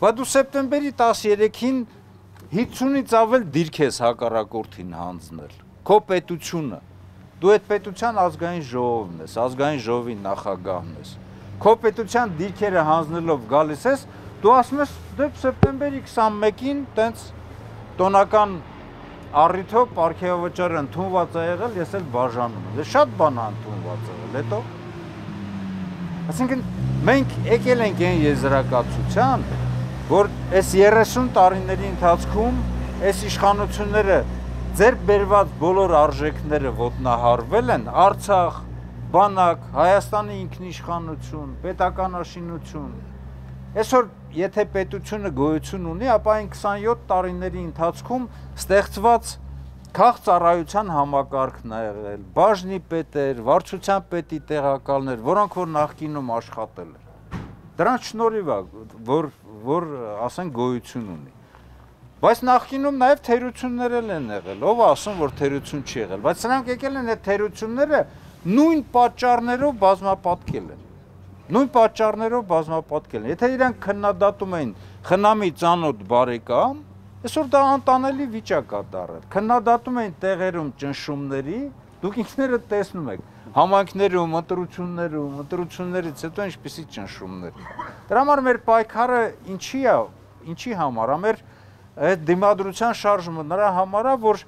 Բայց դու սեպտեմբերի 13-ին 50-ից ավել դիրք ես հակառակորդին հանձնել, քո պետությունը, դու այդ պետության ազգային ժողովն ես, ազգային ժողովի նախագահն ես, քո պետության դիրքերը հանձնելով գալիս ես, դու ասում ես դեպ սեպտեմբերի 21-ին տենց տոնական առիթով պարգևավճարը ընդունված է եղել, ես էլ բաժանում եմ, շատ բան է ընդունված եղել, հետո այսինքն մենք եկել ենք այն եզրակացության, որ այս 30 տարիների ընթացքում այս իշխանությունները ձեր բերված բոլոր արժեքները ոտնահարվել են, Արցախ, բանակ, Հայաստանի ինքնիշխանություն, պետականաշինություն, այսօր եթե պետությունը գոյություն ունի, ապա այն 27 տարիների ընթացքում ստեղծված քաղաքծառայության համակարգն է եղել, բաժնի պետեր, վարչության պետի տեղակալներ, որոնք որ նախկինում աշխատել են։ Դրանց շնորհիվ է, որ ասեն գոյություն ունի։ Բայց նախկինում նաև թերություններ են եղել, ով ասում, որ թերություն չի եղել, բայց սրանք եկել են այդ թերությունները նույն պատճառներով բազմապատկել են։ Նույն պատճառներով բազմապատկել են։ Եթե իրանք քննադատում էին խնամի ծանոթ բարեկամ, այսօր դա անտանելի վիճակ է դառել։ Քննադատում էին տեղերում ճնշումների, դուք ինքներդ տեսնում եք, համայնքներում, ընտրություններից հետո ինչպիսի ճնշումներ։ Դրա համար մեր պայքարը ինչի համար է, մեր այդ դիմադրության շարժումը նրա համար է, որ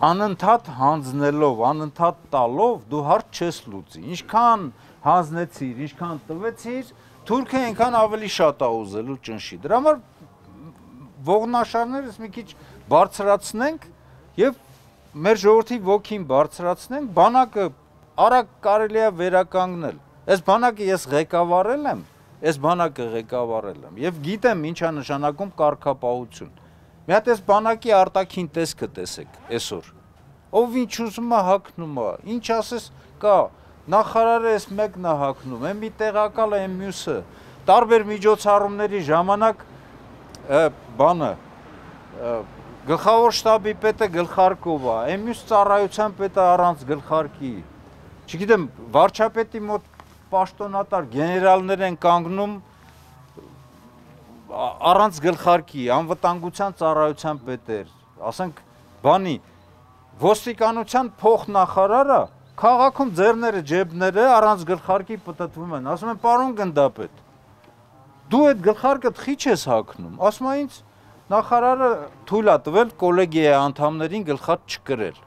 անընդհատ հանձնելով, անընդհատ տալով դու հարց չես լուծի։ Ինչքան հանձնեցիր, ինչքան տվեցիր, թուրքը այնքան ավելի շատ է ուզելու ճնշի։ Դրա համար ողնաշարներս մի քիչ բարձրացնենք եւ մեր ժողովրդի ոգին բարձրացնենք, բանակը արագ կարելի է վերականգնել։ Այս բանակը ես ղեկավարել եմ, եւ գիտեմ ինչ է նշանակում կարգապահություն։ Մի հատ այս բանակի արտաքին տեսքը տեսեք այսօր։ Ով ինչ ուզում է հագնում է, ինչ ասես կա, նախարարը էս մեկն է հագնում, այն մի տեղակալ է, այն մյուսը։ Տարբեր միջոցառումների ժամանակ բանը գլխավոր շտաբի պետը գլխարկով է, այն մյուս ծառայության պետը առանց գլխարկի։ Չգիտեմ, վարչապետի մոտ պաշտոնատար գեներալներ են կանգնում առանց գլխարկի, անվտանգության ծառայության պետեր, ասենք բանի, ոստիկանության փոխնախարարը քաղաքում ձեռները ջեբները առանց գլխարկի պտտվում են, ասում են պարոն գնդապետ, դու այդ գլխարկը խի չես հագնում, ասում է ինձ նախարարը թույլ է տվել կոլեգիայի անդամներին գլխարկ չկրել։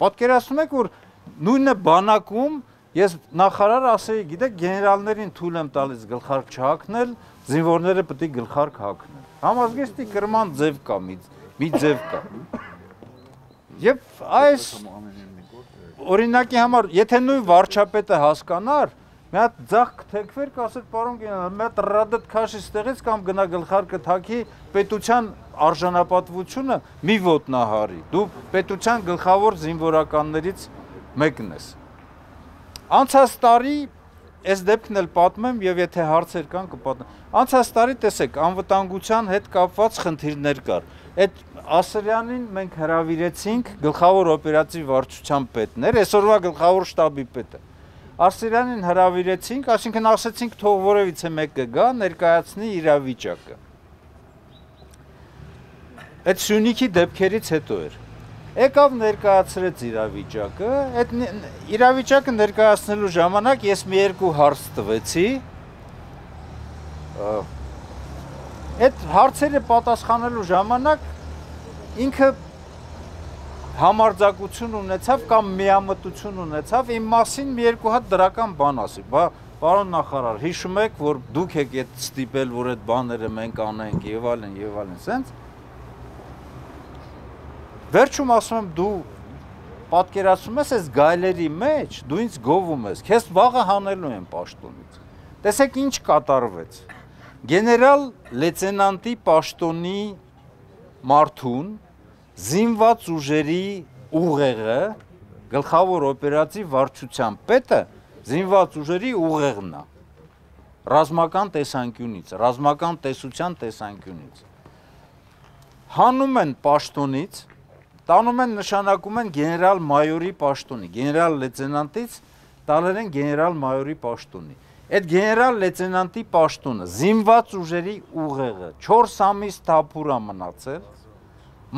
Պատկերացնում եք, որ նույնը բանակում ես նախարարը ասեի, գիտեք, գեներալներին թույլ եմ տալիս գլխարկ չհագնել, զինվորները պետք է գլխարկ հագնեն։ Համազգեստի կրման ձև կա, մի ձև կա։ Եվ այս օրինակի համար, եթե նույն վարչապետը հասկանար, մի հատ ձախ թեքվեր կասեր, պարոն գեներալ, մի հատ ռադդ քաշի ստեղից կամ գնա գլխարկը թակի պետության արժանապատվությունը մի ոտնահարի, դու պետության գլխավոր զինվորականներից մեկն ես։ Անցած տարի, այս դեպքն էլ պատմեմ և եթե հարցեր կան կպատմեմ, անցած տարի տեսեք, անվտանգության հետ կապված խնդիրներ կար, այդ Ասրյանին մենք հրավիրեցինք գլխավոր օպերատիվ վարչության պետներ, այսօրվա գլխավոր շտաբի պետը, Ասրյանին հրավիրեցինք, այսինքն ասեցինք թող որևիցե մեկը գա, ներկայացնի իրավիճակը։ Այդ Սյունիքի դեպքերից հետո էր։ Եկավ ներկայացրեց իրավիճակը, այդ իրավիճակը ներկայացնելու ժամանակ ես մի երկու հարց տվեցի, այդ հարցերը պատասխանելու ժամանակ ինքը համարձակություն ունեցավ կամ միամտություն ունեցավ իմ մասին մի երկու հատ դրական բան ասի, պարոն նախարար, հիշում եք, որ դուք եք այդ ստիպել, որ այդ բաները մենք անենք եւ այլն, սենց։ Վերջում ասում եմ դու պատկերացնում ես այս գայլերի մեջ, դու ինձ գովում ես, քեզ վաղը հանելու եմ պաշտոնից։ Տեսեք ինչ կատարվեց։ Գեներալ լեյտենանտի պաշտոնի մարդուն զինված ուժերի ուղեղը, գլխավոր օպերատիվ վարչության պետը զինված ուժերի ուղեղն է, ռազմական տեսանկյունից, ռազմական տեսության տեսանկյունից։ Հանում են պաշտոնից, տանում են նշանակում են գեներալ մայորի պաշտոնի, գեներալ լեյտենանտից տալել են գեներալ մայորի պաշտոնի։ Այդ գեներալ լեյտենանտի պաշտոնը, զինված ուժերի ուղեղը 4 ամիս թափուր է մնացել,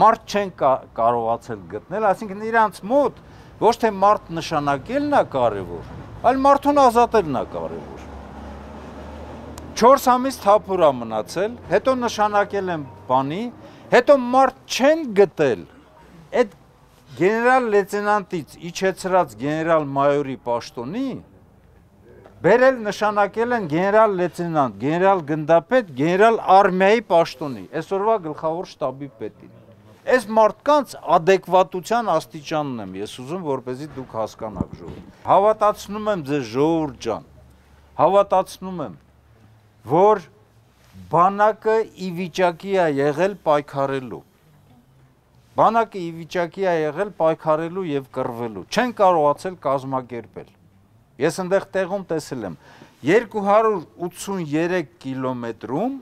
մարդ չեն կարողացել գտնել, այսինքն իրանց մոտ ոչ թե մարդ նշանակելն է կարևոր, այլ մարդուն ազատելն է կարևոր։ 4 ամիս թափուր է մնացել, հետո նշանակել են բանի, հետո մարդ չեն գտել, այդ գեներալ լեյտենանտից իջեցրած գեներալ մայորի պաշտոնի բերել նշանակել են գեներալ լեյտենանտ, գեներալ գնդապետ, գեներալ արմիայի պաշտոնի, այսօրվա գլխավոր շտաբի պետին։ Այս մարդկանց ադեկվատության աստիճանն եմ ես ուզում, որպեսզի դուք հասկանաք ժողովուրդ։ Հավատացնում եմ ձեզ ժողովուրդ ջան, հավատացնում եմ, որ բանակը ի վիճակի է եղել պայքարելու։ Բանակը ի վիճակի է եղել պայքարելու եւ կռվելու։ Չեն կարողացել կազմակերպել։ Ես այնտեղ տեղում տեսել եմ 283 կիլոմետրում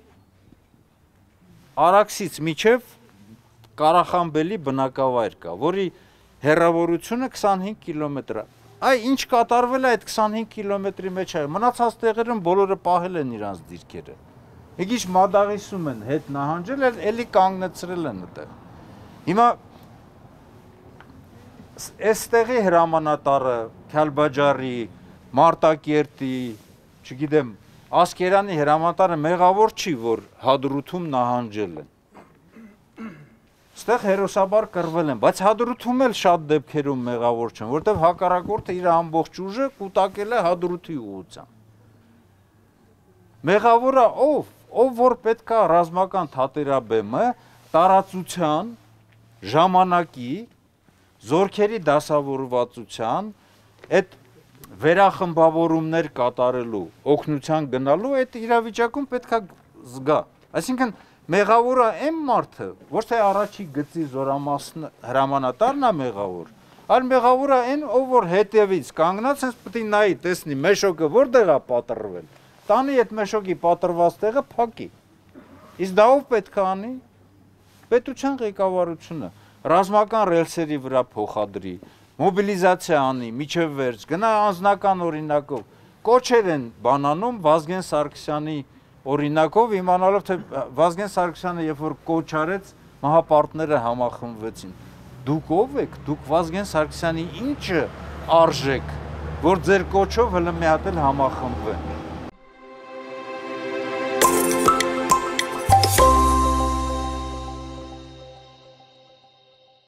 Արաքսից մինչև Ղարախանբելի բնակավայր կա, որի հեռավորությունը 25 կիլոմետր է։ Այ ինչ կատարվել է այդ 25 կիլոմետրի մեջ է։ Մնացած տեղերում բոլորը պահել են իրանց դիրքերը։ Եկիչ մադաղիսում են հետ նահանջել, էլի կանգնեցրել են այդտեղ։ Հիմա այստեղի հրամանատարը Քալբաջարի, Մարտակերտի, չգիտեմ, Ասկերանի հրամանատարը մեղավոր չի, որ Հադրութում նահանջել են։ Ստեղ հերոսաբար կռվել են, բայց Հադրութում էլ շատ դեպքերում մեղավոր չեն, որտեղ հակառակորդը իր ամբողջ ուժը կուտակել է Հադրութի ուղղությամբ։ Մեղավորը ով որ պետք է ռազմական թատերաբեմը տարածության, ժամանակի, զորքերի դասավորվածության, այդ վերախմբավորումներ կատարելու, օգնության գնալու, այդ իրավիճակում պետք է զգա։ Այսինքն մեղավորը այն մարդը, ոչ թե առաջի գծի զորամասն հրամանատարն է մեղավոր, այլ մեղավորը այն, ով որ հետևից կանգնած հենց պետք է նայի, տեսնի մեշոկը որտեղ է պատռվել, տանի այդ մեշոկի պատռված տեղը փակի։ Իսկ դա ով պետք է անի։ Պետության ղեկավարությունը ռազմական ռելսերի վրա փոխադրի, մոբիլիզացիա անի, միջև վերջ, գնա անձնական օրինակով, կոչեր են բանանում Վազգեն Սարգսյանի օրինակով, իմանալով, թե Վազգեն Սարգսյանը երբ որ կոչ արեց, մահապարտները համախմբվեցին։ Դուք ով եք, դուք Վազգեն Սարգսյանի ինչը արժեք, որ ձեր կոչով հլը մի հատ էլ համախմբվեն։